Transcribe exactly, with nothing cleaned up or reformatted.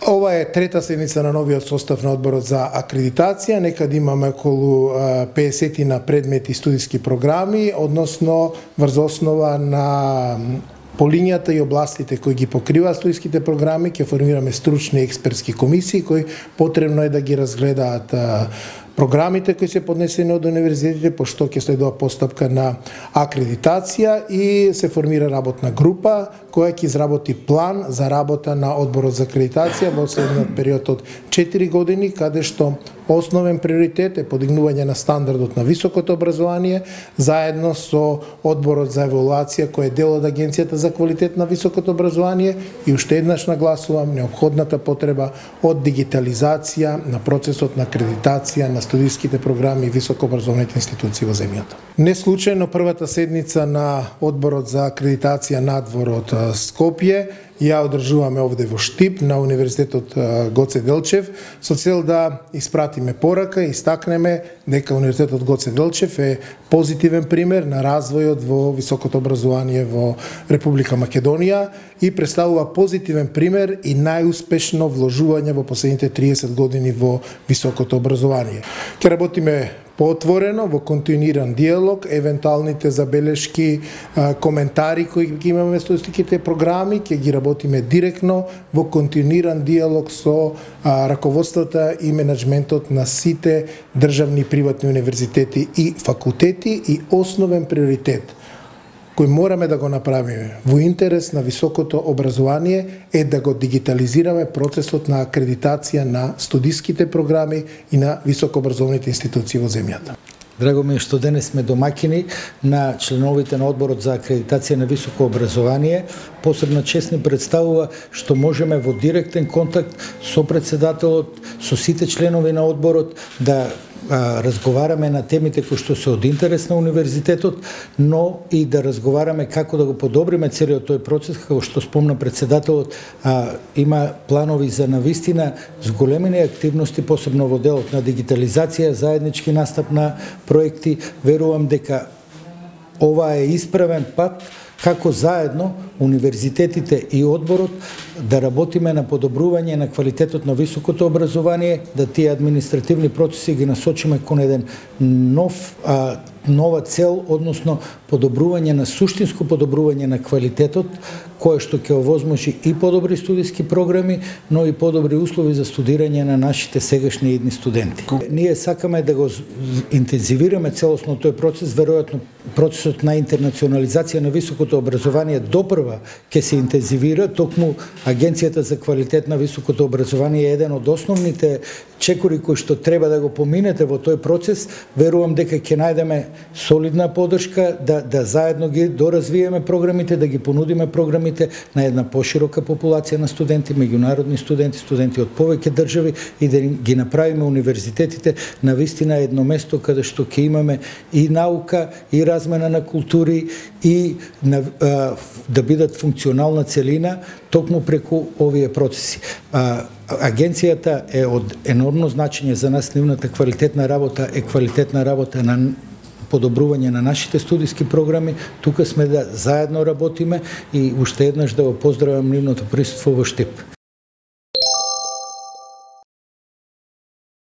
Ова е трета седница на новиот состав на одборот за акредитација. Некад имаме околу педесет на предмети студиски програми, односно врз основа на по линијата и областите кои ги покриваат студиските програми, ќе формираме стручни експертски комисии кои потребно е да ги разгледаат програмите кои се поднесени од универзитетите, пошто ќе следува постапка на акредитација и се формира работна група која ќе изработи план за работа на одборот за акредитација во следниот период од четири години, каде што основен приоритет е подигнување на стандардот на високото образование, заедно со одборот за евалуација кој е дел од Агенцијата за квалитет на високото образование и уште еднаш нагласувам неопходната потреба од дигитализација на процесот на акредитација на студиските програми и високообразовните институции во земјата. Не случајно првата седница на одборот за акредитација надвор од Скопје ја одржуваме овде во Штип на Универзитетот Гоце Делчев со цел да испратиме порака и истакнеме дека Универзитетот Гоце Делчев е позитивен пример на развојот во високото образование во Република Македонија и представува позитивен пример и најуспешно вложување во последните триесет години во високото образование. Ќе работиме поотворено, во континуиран диалог, евентуалните забелешки, коментари кои ги имаме со студиските програми, ќе ги работиме директно во континуиран диалог со раководствата и менеджментот на сите државни и приватни универзитети и факултети и основен приоритет кој мораме да го направиме во интерес на високото образование е да го дигитализираме процесот на акредитација на студиските програми и на високообразовните институции во земјата. Драго ми е што денес сме домаќини на членовите на одборот за акредитација на високо образование. Посебна чест ни представува што можеме во директен контакт со председателот, со сите членови на одборот да а, разговараме на темите кои што се од интерес на универзитетот, но и да разговараме како да го подобриме целиот тој процес, како што спомна председателот, а, има планови за навистина зголемени активности, посебно во делот на дигитализација, заеднички настап на проекти. Верувам дека ова е исправен пат како заедно универзитетите и одборот да работиме на подобрување на квалитетот на високото образование, да тие административни процеси ги насочиме кон еден нов а, нова цел, односно подобрување на суштинско подобрување на квалитетот, кое што ќе овозможи и подобри студиски програми, но и подобри услови за студирање на нашите сегашни и идни студенти. Ние сакаме да го интензивираме целосно тој процес, веројатно процесот на интернационализација на високото образование допрва ќе се интензивира, токму Агенцијата за квалитет на високото образование е еден од основните чекори кои што треба да го поминете во тој процес. Верувам дека ќе најдеме солидна подршка да, да заедно ги доразвиеме програмите, да ги понудиме програмите на една поширока популација на студенти, меѓународни студенти, студенти од повеќе држави и да ги направиме универзитетите на вистина едно место каде што ќе имаме и наука, и размена на култури, и на, а, да бидат функционална целина токму преку овие процеси. А, Агенцијата е од енормно значење за нас, нивната квалитетна работа е квалитетна работа на подобрување на нашите студиски програми. Тука сме да заедно работиме и уште еднаш да го поздравам нивното присуство во Штип.